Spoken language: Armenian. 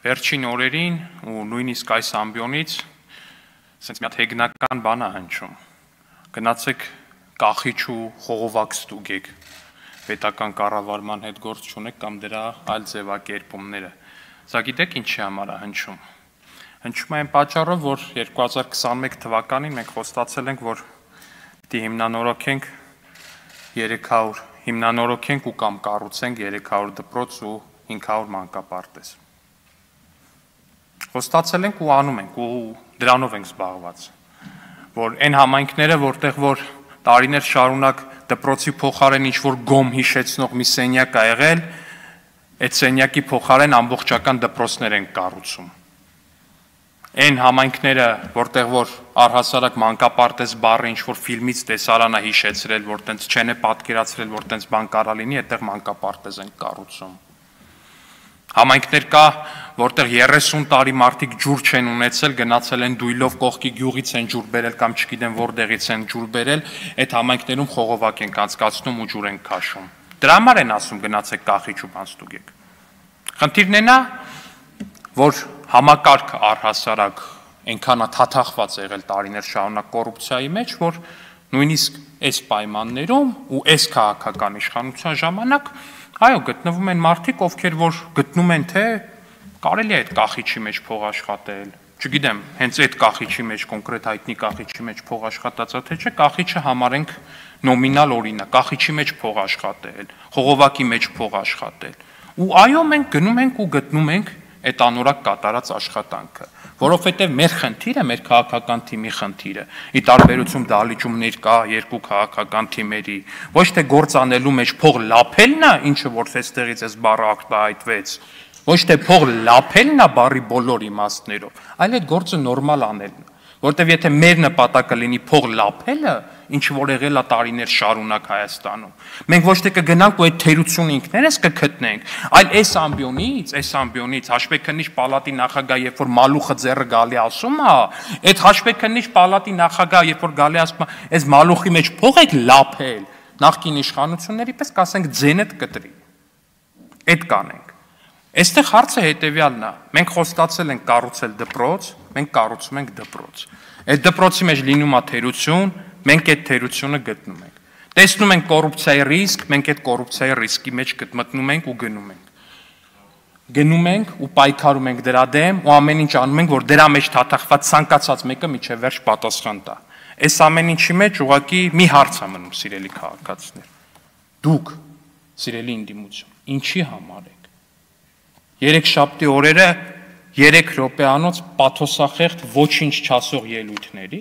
Վերջին օրերին ու նույնիսկ այս ամբիոնից ասենց մի հատ հեգնական բան է հնչում։ Գնացեք կախիչ ու խողովակ ստուգեք, պետական կառավարման հետ գործ չունեք կամ դրա այլ ձևակերպումները։ Սա գիտեք ինչի համար է հնչում։ Հնչում է այն պատճառով, որ 2021 թվականին մենք խոստացել ենք, որ պիտի հիմնանորոգենք ու կամ կառուցենք 300 դպրոց ու 500 մանկապարտեզ։ Խոստացել ենք ու անում ենք ու դրանով ենք զբաղված, որ այն համայնքները, որտեղ որ տարիներ շարունակ դպրոցի փոխարեն ինչ-որ գոմ հիշեցնող մի սենյակ ա եղել, այդ սենյակի փոխարեն ամբողջական դպրոցներ են կառուցում։ Այն համայնքները, որտեղ որ առհասարակ մանկապարտեզ բառը ինչ-որ ֆիլմից տեսարան է հիշեցրել, որ տենց չեն է պատկերացրել, որ տենց բան կարա լինի, այդտեղ մանկապարտեզ են կառուցում։ Համայնքներ կա, որտեղ 30 տարի մարդիկ ջուր չեն ունեցել, գնացել են դույլով կողքի գյուղից են ջուր բերել կամ չգիտեմ որտեղից են ջուր բերել, այդ համայնքներում խողովակ են անցկացնում ու ջուր են քաշում։ Դրա համար են ասում գնացեք կախիչ ու բան ստուգեք։ Խնդիրն է նա, որ համակարգը առհասարակ այնքան է թաթախված եղել տարիներ շարունակ կոռուպցիայի մեջ, որ նույնիսկ այս պայմաններում ու այս քաղաքական իշխանության ժամանակ այո, գտնվում են մարդիկ, ովքեր որ գտնում են, թե կարելի է այդ կախիչի մեջ փող աշխատել, չգիտեմ, հենց այդ կախիչի մեջ, կոնկրետ հայտնի կախիչի մեջ փող աշխատածա, թե չէ, կախիչը համարենք նոմինալ օրինակ, կախիչի մեջ փող աշխատել, խողովակի մեջ փող աշխատել։ Ու այո, մենք գնում ենք ու գտնում ենք այդ անորակ կատարած աշխատանքը, որովհետև մեր խնդիրը, մեր քաղաքական թիմի խնդիրը, ի տարբերություն դահլիճումներ կա երկու քաղաքական թիմերի, ոչ թե գործ անելու մեջ փող լափելն է, ինչը որ այստեղից այս բառը արտահայտվեց, ոչ թե փող լափելն է բառի բոլոր իմաստներով, այլ այդ գործը նորմալ անելն է, որովհետև եթե մեր նպատակը լինի փող լափելը, ինչ որ եղել է տարիներ շարունակ Հայաստանում, մենք ոչ թե կգնանք ու այդ թերությունը ինքներս կգտնենք, այլ այս ամբիոնից հաշվեկնիչ պալատի նախագահ, երբ որ Մալուխը ձեռը գալի ասում է, այդ հաշվեկնիչ պալատի նախագահ, երբ որ գալի ասում է, այս Մալուխի մեջ փող եք լափել, նախկին իշխանությունների պես կասենք ձենդ կտրի։ Այդ կանենք։ Այստեղ հարցը հետևյալն է, մենք խոստացել ենք կառուցել դպրոց, մենք կառուցում ենք դպրոց։ Այդ դպրոցի մեջ լինում է թերություն, մենք այդ թերությունը գտնում ենք։ Տեսնում ենք կոռուպցիայի ռիսկ, մենք այդ կոռուպցիայի ռիսկի մեջ մտնում ենք ու գնում ենք։ Գնում ենք ու պայքարում ենք դրա դեմ ու ամեն ինչ անում ենք, որ դրա մեջ թաթախված ցանկացած մեկը միջև վերջ պատասխան տա։ Այս ամեն ինչի մեջ ուղղակի մի հարց է մնում, սիրելի քաղաքացիներ։ Դուք, սիրելի ընդդիմություն, ինչի համար եք։ Երեքշաբթի օրերը 3 րոպեանոց պաթոսախեղդ ոչինչ չասող ելույթների